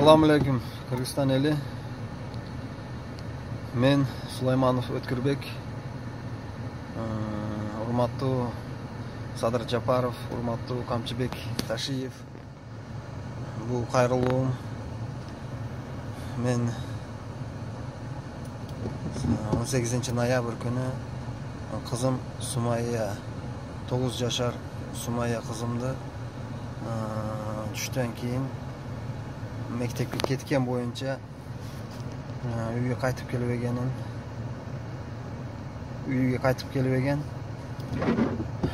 Assalamu alaikum Kırgızstan eli. Men Sulaymанов Өткүрбек. Урматтуу Садыр Жапаров, урматтуу Камчыбек Ташиев. Бул кайрылуум. Мен 18 ноябрь күнү кызым Сумайя 9 жашар Сумайя кызымды түштөн кийин мектепке кеткен боюнча үйгө кайтып келбеген.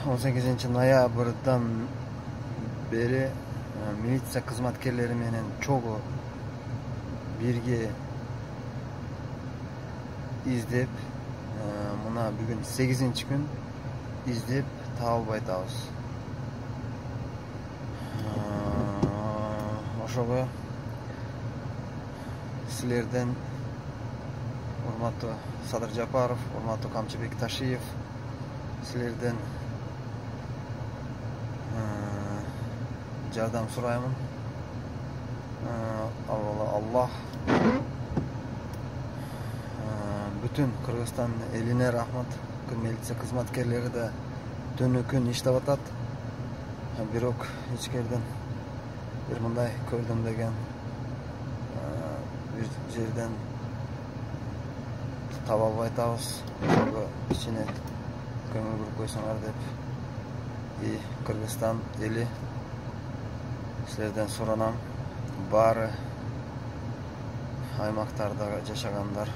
18 ноябрдан бери милиция кызматкерлери менен чогуу бирге издеп, мына бүгүн 8 күн издеп таба албай атабыз. Ошого силерден урматтуу Садыр Жапаров, урматтуу Камчыбек Ташиев, силерден жардам сураймын. Аллах бүтүн Кыргызстан элине рахмат. Милиция кызматкерлери да түнү күн иштеп атат. Бирок ичкерден бир мындай көрдүм деген бир жерден таба албай атабыз. Ошого кичине көңүл буруп койсоңор деп Кыргызстан эли силерден суранам. Баары аймактарда жашагандар,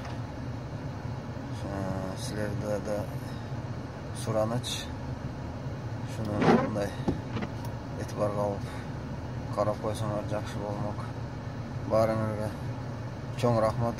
силерде да сураныч. Шуну мындай этибарга алып карап койсоңор жакшы болмок. Баарыңарга чоң рахмат.